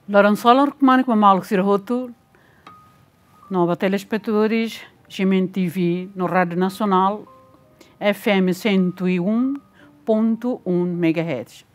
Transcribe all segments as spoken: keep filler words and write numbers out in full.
Loron solar kmanek ba maluk sira hotu, no ba telespetadores G M N T V no Rádio Nacional F M cento e um ponto um megahertz.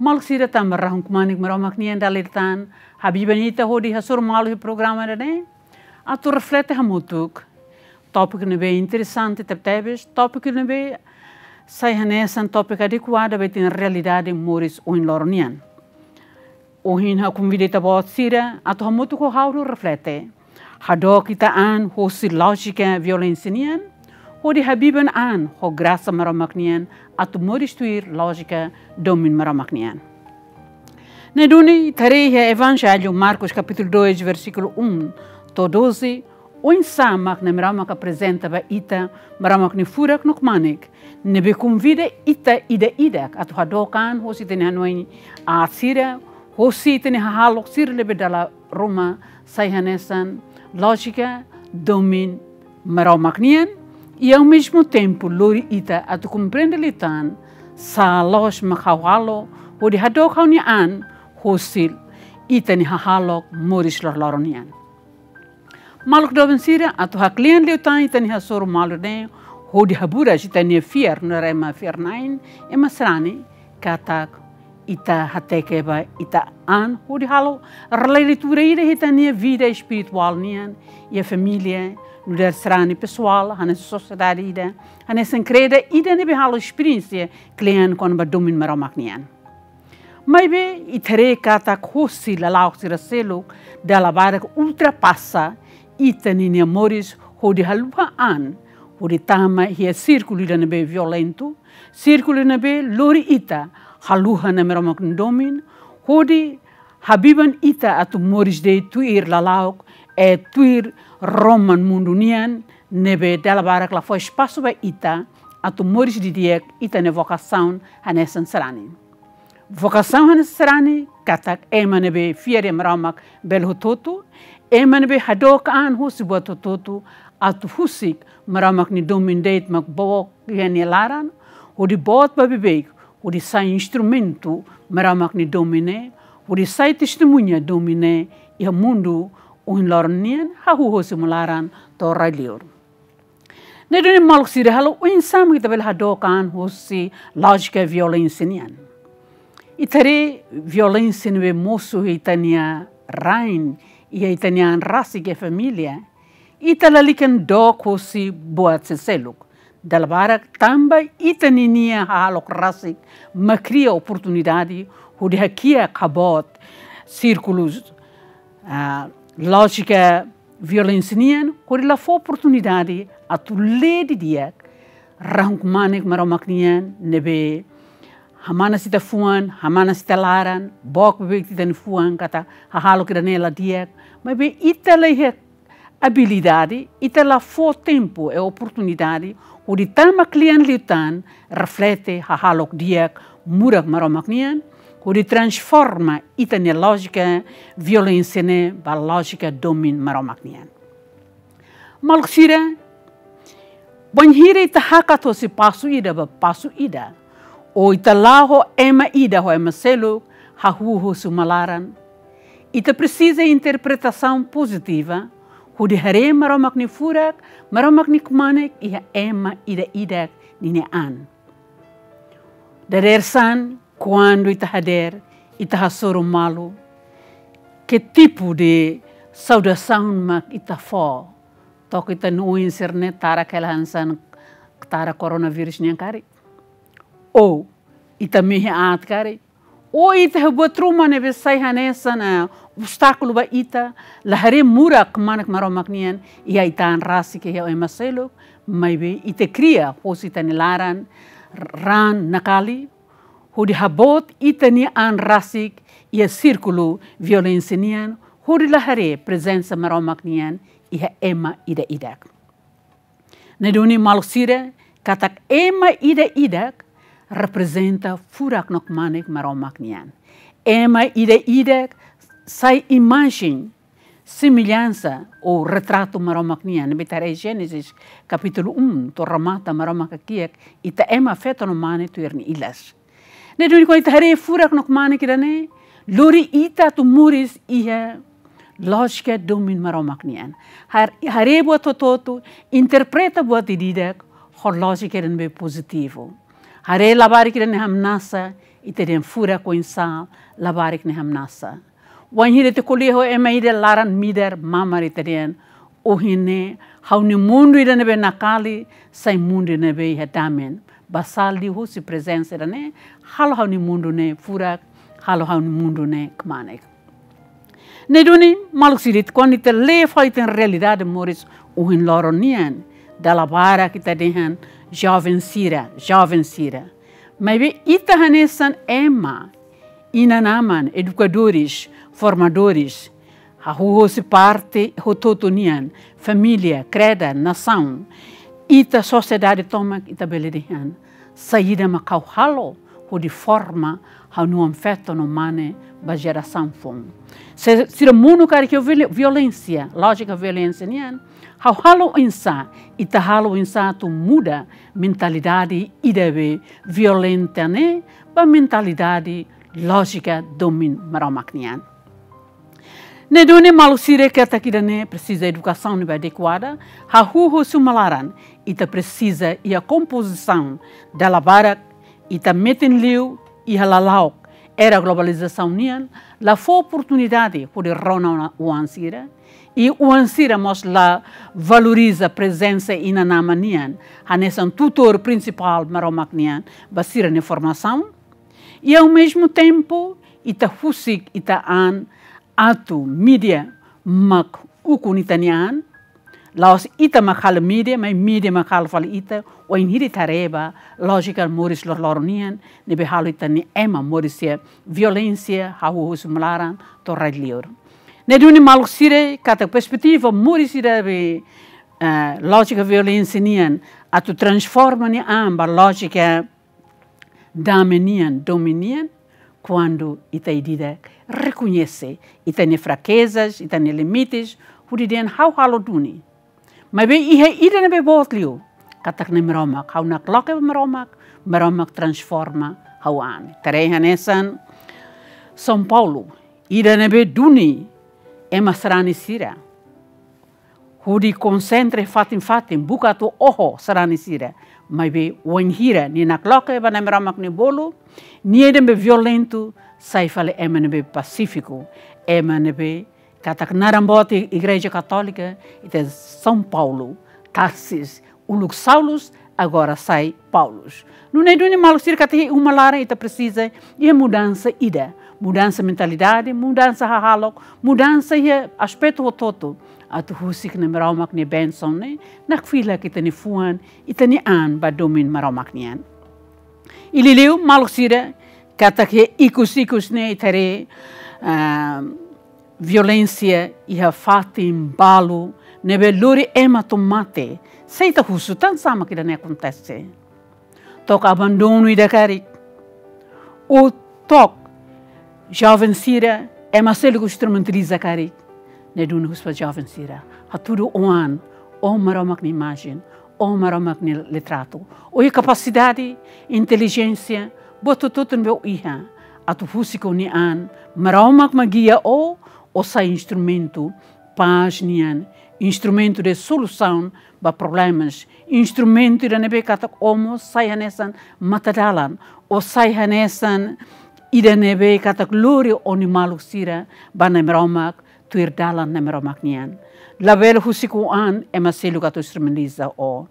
Maluk sira, tanba rahun kmanek Maromak nian dala ida tan habiban ita hodi hasoru malu iha programa ida-ne'e, atu reflete hamutuk tópiku ne'ebé interesante tebetebes, tópiku ne'ebé sai hanesan tópiku adekuadu ba ita-nia realidade moris ohin loron nian. Ohin ha'u konvida ita-boot sira atu hamutuk ho ha'u reflete, hadook ita an hosi lójika violénsia nian, hodi habiban an ho grasa Maromak nian atu moris tuir lójika domin Maromak nian. Ne'e duni ita haree iha Evanjellu Marcos kapítulu dois versíkulu um to'o doze, oinsá mak Nai Maromak aprezenta ba ita Maromak nia furak no kmanek, ne'ebé konvida ita ida-idak atu hadook an hosi ita-nia hanoin aat sira, hosi ita-nia hahalok sira ne'ebé dala ruma sai hanesan lójika domin Maromak nian, i ao mesmo tempo lori ita atu komprende liután sá loos mak ha'u halo hodi hadook ha'u-nia an hosi ita-nia hahalok moris loroloron nian. Maluk doben sira, atu haklean liután ita-nia hasoru malu ne'e, hodi haburas ita-nia fiar nu'udar ema fiar-na'in, ema sarani, katak ita hateke ba ita an hodi halo releitura ida iha ita-nia vida espirituál nian, iha família, nu'udar sarani pesoál, hanesan sosiedade ida, hanesan krédu ida ne'ebé halo esperiénsia klean kona-ba domin Maromak nian. Maibé ita haree katak hosi lala'ok sira seluk dala barak ultrapasa ita ninia moris hodi haluha an hodi tama iha sírkulu ida ne'ebé violentu, sírkulu ne'ebé lori ita haluha Nai Maromak nia domin, hodi habiban ita atu moris de'it tuir lala'ok, eh, tuir roman mundu nian, ne'ebé dala barak la fó espasu ba ita atu moris didi'ak ita-nia vokasaun hanesan sarani. Vokasaun hanesan sarani katak ema ne'ebé fiar iha Maromak bele hotu-hotu, ema ne'ebé hadook an hosi buat hotu-hotu, atu husik Maromak nia domin de'it mak book iha nia laran, hodi boot ba beibeik, hodi sai instrumentu Maromak nia domin ne'e, hodi sai testemuña domin ne'e iha mundu ohin loron nian, hahú hosi uma laran to'o rai-liur. Ne'e duni maluk sira, halo oinsá mak ita bele hadook an hosi lójika violénsia nian. Ita haree violénsia ne'ebé mosu iha ita-nia rain, iha ita-nia an rasik iha família, ita lalika dook hosi buat seluk-seluk. Dala barak tanba ita ninia hahalok rasik mak kria oportunidade hodi hakiak haboot sírkulu, ah, lójika violénsia nian, hodi la fó oportunidade atu lee didi'ak rahun kmanek Maromak nian ne'ebé hamanas ita-nia fuan, hamanas ita-nia laran, book beibeik ita-nia fuan katak hahalok ida-ne'e la di'ak, maibé ita la iha abilidade, ita la fó tempu i oportunidade hodi tama klean liután reflete hahalok di'ak murak Maromak nian, hodi transforma ita-nia lójika violénsia ne'e ba lójika domin Maromak nian. Maluk sira, bainhira ita hakat hosi pasu ida ba pasu ida, ou ita la'o ho ema ida ho ema seluk, hahú hosi uma laran, ita presiza interpretasaun pozitiva hodi haree Maromak nia furak, Maromak nia kmanek iha ema ida-idak ninia an. Dadeer-saan, kuandu ita hadeer, ita hasoru malu, ke tipu de saudasaun mak ita fó? To'o ita-nia oin sira-ne'e tara hela hanesan tara koronavírus nian karik? Ou ita mehi aat karik? Ou ita iha buat ruma ne'ebé sai hanesan, ah, obstákulu ba ita, la haree murak kmanek Maromak nian iha ita an rasik, iha ema seluk, maibé ita kria hosi ita-nia laran raan nakali, hodi haboot ita-nia an rasik iha sírkulu violénsia nian, hodi la haree prezensa Maromak nian iha ema ida-idak. Ne'e duni maluk sira, katak ema ida-idak reprezenta furak no kmanek Maromak nian. Ema ida-idak sai imajen, semellansa ou retratu Maromak nian. Ne'ebé ita haree Génesis kapítulu um, to'o remata Maromak hakiak ita ema feto no mane tuir nia ilas. Ne'e duni kuandu ita haree furak no kmanek ida-ne'e, Lori ita atu moris iha lójika domin Maromak nian. Har-, haree buat hotu-hotu, interpreta buat ida-idak ho lójika ida ne'ebé pozitivu. Haree labarik ida ne'e hamnasa, ita dehan furak oinsá labarik ne'e hamnasa. Wainhira ita ko'alia ho ema ida laran midar mamar ita dehan, ohin ne'e ha'u-nia mundu ida ne'ebé nakali sai mundu ida ne'ebé iha damen. Basá liuhusi prezensa ida ne'e, halo ha'u-nia mundu ne'e furak, halo ha'u-nia mundu ne'e kmanek. Ne'e duni, maluk sira, kuandu ita lee fali ita-nia realidade moris ohin loron nian, dala barak ita dehan joven sira, joven sira. Maibé ita hanesan ema, inan-aman, edukadores, formadores, hahú hosi parte hotu-hotu nian, família, kreda, nasaun, ita sosiedade tomak, ita bele dehan saida mak ha'u halo hodi forma ha'u-nia oan-feto no mane ba jerasaun foun. Se sira monu karik iha viol-, violénsia, lójika violénsia nian, ha'u halo oinsá, ita halo oinsá atu muda mentalidade ida be violenta ne'e ba mentalidade lójika domin Maromak nian. Ne'e duni, maluk sira, katak ida ne'e presiza edukasaun ne'ebé adekuada, hahú hosi uma laran, ita presiza iha kompozisaun, dala barak ita metin liu iha lala'ok era globalizasaun nian, la fó oportunidade hodi rona ona oan sira, i oan sira mós la valoriza prezensa inan-aman nian hanesan tutór prinsipál Maromak nian ba sira-nia formasaun. I ao mesmo tempo, ita husik ita-nia an atu mídia mak ukun ita-nia an. La'ós ita mak halo mídia, maibé mídia mak halo fali ita, wainhira ita haree ba lójika moris loroloron nian ne'ebé halo ita-nia ema moris iha violénsia, hahú hosi uma laran to'o rai-liur. Ne'e duni, maluk sira, katak perspetiva moris ida be, eh, lójika violénsia nian atu transforma nia an ba lójika damen nian, domin nian, kuandu ita ida-idak rekoñese ita-nia frakezas, ita-nia limites, hodi dehan ha'u halo duni. Maibé iha ida ne'ebé boot liu, katak Nai Maromak, ha'u nakloke ba Maromak, Maromak transforma ha'u-nia an. Ita haree hanesan São Paulo, ida ne'ebé duni ema sarani sira, hodi konsentra fatin-fatin, buka atu oho sarani sira. Maibé wainhira nia nakloke ba Nai Maromak nia bolu, nia ida ne'ebé violentu sai fali ema ne'ebé pasífiku, ema ne'ebé katak naran boot Igreja Katólika, ita São Paulo, Tarsis, uluk Saulus, agora sai Paulus. Nune'e duni, maluk sira, katak iha uma laran ita presiza iha mudansa ida, mudansa mentalidade, mudansa hahalok, mudansa iha aspetu hotu-hotu, atu husik Nai Maromak nia bensaun ne'e nakfilak ita-nia fuan, ita-nia an ba domin Maromak nian. I liuliu, maluk sira, katak iha ikus-ikus ne'e ita haree, ah, violénsia iha fatin balu ne'ebé lori ema to'o mate. Se ita husu, tansá mak ida ne'e akontese? To'ok abandonu ida karik, ou to'ok joven sira ema seluk instrumentaliza karik? Ne'e duni, husu ba joven sira, hatudu ó-an, ó Maromak nia imajen, ó Maromak nia litratu, ó iha kapasidade, intelijénsia, buat hotu-hotu ne'ebé ó iha, atu husik ó-nia an, Maromak mak gia ó, ó sai instrumentu pás nian, instrumentu de solusaun ba problemas, instrumentu ida ne'ebé katak ó mós sai hanesan matadalan, ó sai hanesan ida ne'ebé katak lori ó-nia maluk sira ba Nai Maromak, tuir dalan Nai Maromak nian. Labele husik ó-an ema seluk atu instrumentaliza ó.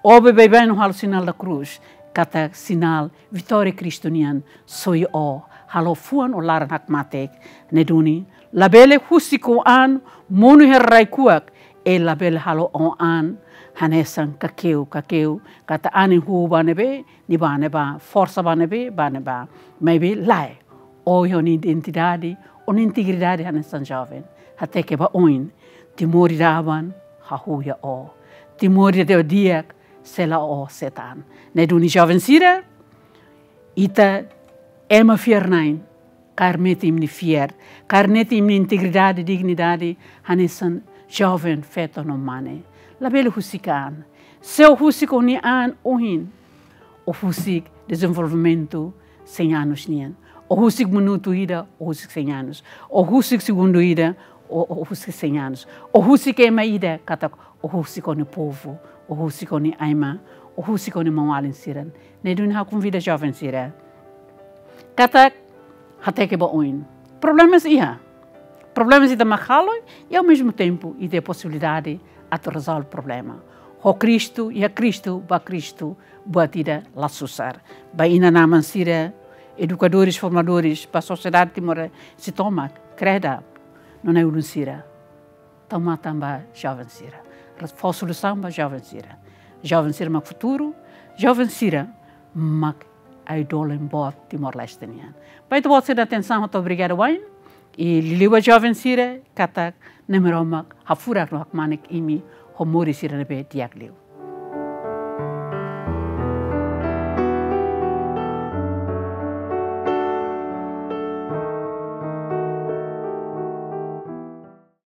Ó be baibain no halo sinál da krús, katak sinál vitória Kristu nian, soi ó, halo fuan ó laran hakmatek. Ne'e duni, labele husik ó-an monu iha rai-kuak, i labele halo ó-an hanesan kakeu, kakeu, katak anin huu ba ne'ebé, nia bá ne'ebá, forsa ba ne'ebé, bá ne'ebá. Maibé lae, ó iha ó-nia identidade, ó-nia integridade hanesan joven. Hateke ba oin, Timor ida aban hahú iha ó. Timor ida di'ak sei la'o ó, sei tan. Ne'e duni, joven sira, ita ema fiar-na'in, kaer metin imi-nia fiar, kaer metin imi-nia integridade, dignidade, hanesan joven, feto no mane. Labele husik an. Se ó husik ó-nia an ohin, ó husik dezenvolvimentu cem anos nian. Ó husik minutu ida, ó husik cem anos. Ó husik segundu ida, ó, ó husik cem anos. Ó husik ema ida, katak ó husik ó-nia povu, ó husik ó-nia aima, ó husik ó-nia maun-alin sira. Ne'e duni ha'u konvida joven sira katak hateke ba oin. Problemas iha. Problemas ita mak halo i ao mesmo tempo ita iha posibilidade atu rezolve problema. Ho Kristu, iha Kristu, ba Kristu, buat ida la susar. Ba inan-aman sira, edukadores, formadores, ba sosiedade Timor-Leste tomak, CREDAP, no na'i-ulun sira. Tau matan ba joven sira. Fó solusaun ba joven sira. Joven sira mak futuru, joven sira mak ai-dólen boot Timor-Leste nian. Ba ita-boot sira-nia atensaun, ha'u hato'o obrigada wa'in. I liuliu ba joven sira, katak Nai Maromak hafurak no hakmanek imi ho moris sira ne'ebé di'ak liu.